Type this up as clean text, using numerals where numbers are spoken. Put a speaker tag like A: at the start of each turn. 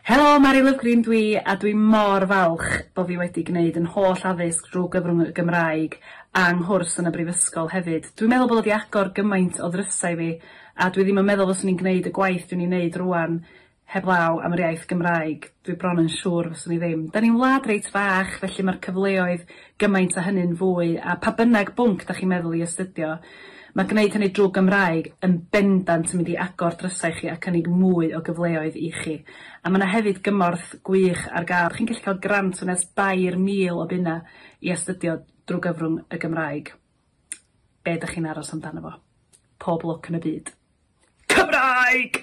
A: Helo, Mari Lovgreen dwi, a dwi mor falch bo' fi wedi gwneud yn holl addysg drwy gyfrwng y Gymraeg a 'nghwrs yn y brifysgol hefyd. Dwi'n meddwl bod o 'di agor gymaint o ddrysau i fi, a dwi ddim yn meddwl fyswn i'n gwneud y gwaith dwi'n ei wneud rŵan heblaw am yr iaith Gymraeg. Dwi bron yn siŵr fyswn i ddim. 'Da ni'n wlad reit fach, felly mae'r cyfleoedd gymaint â hynny'n fwy, a pa bynnag bwnc 'da chi'n meddwl i astudio, mae gwneud hynny drwy Gymraeg yn bendant yn mynd i agor drysau i chi a cynnig mwy o gyfleoedd i chi. A ma' 'na hefyd gymorth gwych ar gael. Chi'n gallu cael grant o nes 3,000 o bunna i astudio drwy gyfrwng y Gymraeg. Be 'dach chi'n aros amdano fo? Pob lwc yn y byd. Cymraeg!